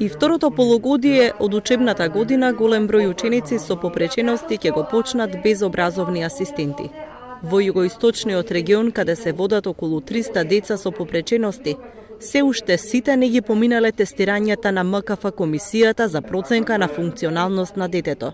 И второто полугодие од учебната година голем број ученици со попречености ќе го почнат без образовни асистенти. Во југоисточниот регион, каде се водат околу 300 деца со попречености, се уште сите не ги поминале тестирањата на МКФ комисијата за проценка на функционалност на детето.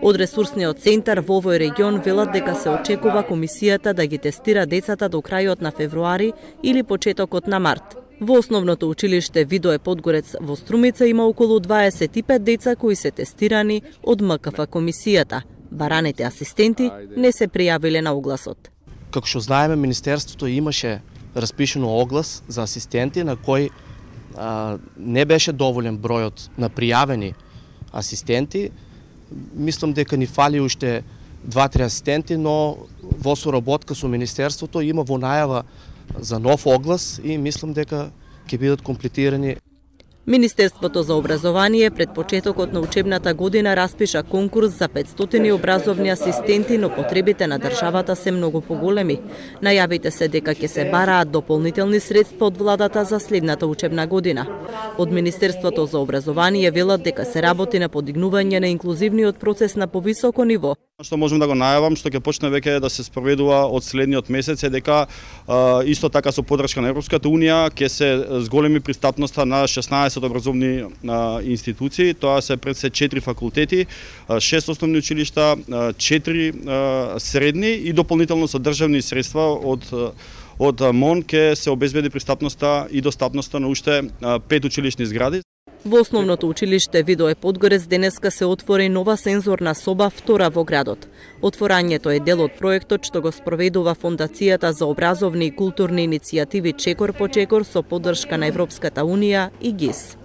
Од ресурсниот центар во овој регион велат дека се очекува комисијата да ги тестира децата до крајот на февруари или почетокот на март. Во основното училиште Видое Подгорец во Струмица има околу 25 деца кои се тестирани од МКФ комисијата. Бараните асистенти не се пријавиле на огласот. Како што знаеме, Министерството имаше распишено оглас за асистенти на кој не беше доволен бројот на пријавени асистенти. Мислам дека ни фали уште 2-3 асистенти, но во соработка со Министерството има во најава за нов оглас и мислам дека ќе бидат комплетирани. Министерството за образование пред почетокот на учебната година распиша конкурс за 500 образовни асистенти, но потребите на државата се многу поголеми. Најавите се дека ќе се бараат дополнителни средства од владата за следната учебна година. Од Министерството за образование велат дека се работи на подигнување на инклузивниот процес на повисоко ниво. Што можам да го најавам, што ќе почне веќе да се спроведува од следниот месец е дека исто така со поддршка на Европската унија ќе се зголеми пристапноста на 16 образовни институции, тоа се пред се 4 факултети, 6 основни училишта, 4 средни и дополнително со државни средства од МОН ќе се обезбеди пристапноста и достапноста на уште 5 училишни згради. Во основното училиште Видое Подгорец денеска се отвори нова сензорна соба, втора во градот. Отворањето е дел од проектот што го спроведува Фондацијата за образовни и културни иницијативи Чекор по чекор со поддршка на Европската унија и ГИС.